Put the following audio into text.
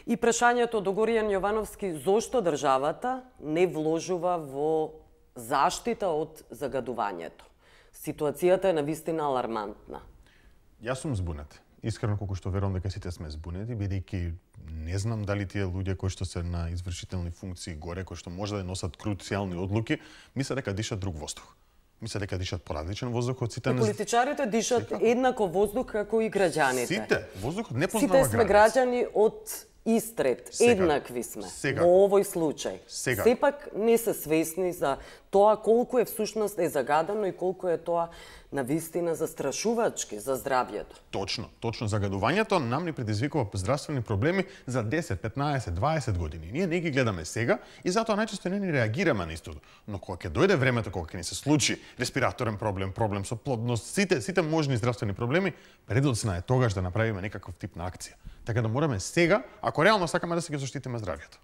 И прашањето до Горијан Јовановски, зошто државата не вложува во заштита од загадувањето? Ситуацијата е навистина алармантна. Јас сум збунет. Искрено колку што верувам дека сите сме збунети, бидејќи не знам дали тие луѓе кои што се на извршителни функции горе, кои што може да носат круцијални одлуки, мислат дека дишат друг воздух. Мислат дека дишат поразличен воздух од сите. И политичарите дишат еднакво воздух како и граѓаните. Сите, воздухот не познава граници. Сите сме граѓани од Истрет, еднакви сме во овој случај. Сепак не се свесни за тоа колку е всушност е загадено и колку е тоа навистина застрашувачки за здравјето. Точно загадувањето нам ни предизвикува здравствени проблеми за 10, 15, 20 години. Ние не ги гледаме сега и затоа најчесто не ни реагираме на истото. Но кога ќе дојде времето кога ќе ни се случи респираторен проблем, проблем со плодност, сите можни здравствени проблеми, предоцна е тогаш да направиме некаков тип на акција. Така да мораме сега, ако реално сакаме да се ги заштитиме здравјето.